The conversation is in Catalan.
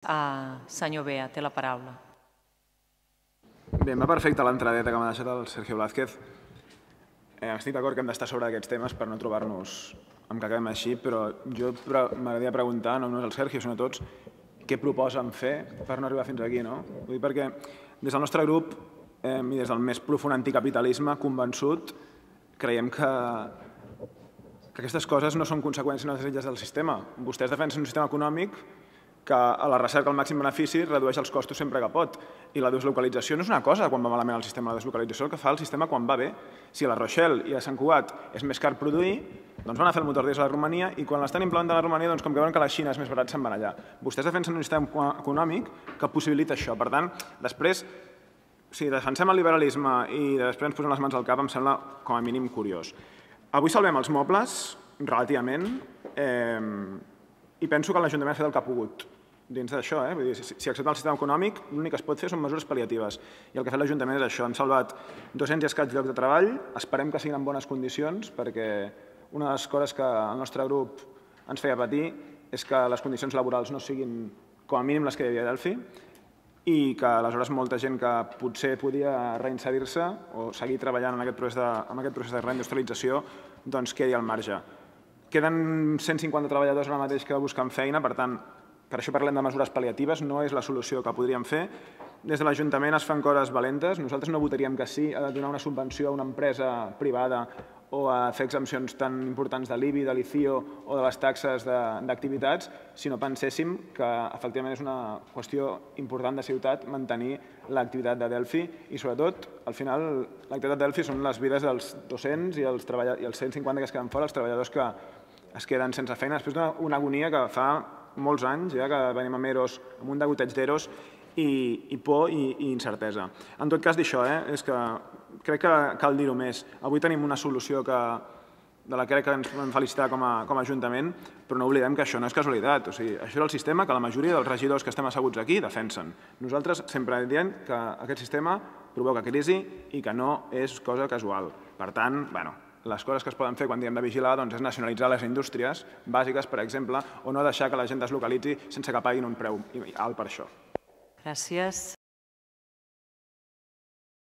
Senyor Bea, té la paraula. Bé, em va perfecte l'entradeta que m'ha deixat el Sergio Blázquez. Estic d'acord que hem d'estar sobre aquests temes per no trobar-nos amb que acabem així, però jo m'agradaria preguntar, no només al Sergio, sinó a tots, què proposen fer per no arribar fins aquí, no? Vull dir, perquè des del nostre grup i des del més profund anticapitalisme convençut, creiem que aquestes coses no són conseqüències necessàries del sistema. Vostès defensen un sistema econòmic que a la recerca al màxim benefici redueix els costos sempre que pot. I la deslocalització no és una cosa quan va malament el sistema, la deslocalització és el que fa el sistema quan va bé. Si a la Rochelle i a Sant Cugat és més car produir, doncs van a fer el motor diesel a la Romania i quan l'estan implementant a la Romania, doncs com que veuen que la Xina és més barat, se'n van allà. Vostès defensen un sistema econòmic que possibilita això. Per tant, després, si defensem el liberalisme i després ens posem les mans al cap, em sembla com a mínim curiós. Avui salvem els mobles, relativament, i penso que l'Ajuntament ha fet el que ha pogut dins d'això. Vull dir, si accepta el sistema econòmic, l'únic que es pot fer són mesures pal·liatives. I el que ha fet l'Ajuntament és això. Hem salvat 200 i escaig llocs de treball. Esperem que siguin en bones condicions, perquè una de les coses que el nostre grup ens feia patir és que les condicions laborals no siguin com a mínim les que hi havia a Delphi i que aleshores molta gent que potser podia reinserir-se o seguir treballant en aquest procés de reindustrialització doncs quedi al marge. Queden 150 treballadors ara mateix que busquen feina, per tant, per això parlem de mesures pal·liatives, no és la solució que podríem fer. Des de l'Ajuntament es fan coses valentes. Nosaltres no votaríem que sí a donar una subvenció a una empresa privada o a fer exempcions tan importants de l'IBI, de l'ICIO o de les taxes d'activitats, si no penséssim que efectivament és una qüestió important de ciutat mantenir l'activitat de Delphi i sobretot, al final, l'activitat de Delphi són les vides dels 200 i els 150 que es queden fora, els treballadors que es queden sense feina, després d'una agonia que fa molts anys, ja que venim amb EROs, amb un degoteig d'EROs i por i incertesa. En tot cas, d'això, és que crec que cal dir-ho més. Avui tenim una solució de la que crec que ens podem felicitar com a Ajuntament, però no oblidem que això no és casualitat. O sigui, això és el sistema que la majoria dels regidors que estem asseguts aquí defensen. Nosaltres sempre diem que aquest sistema provoca crisi i que no és cosa casual. Per tant, les coses que es poden fer quan diem de vigilar és nacionalitzar les indústries bàsiques, per exemple, o no deixar que la gent deslocalitzi sense que paguin un preu alt per això. Gràcies.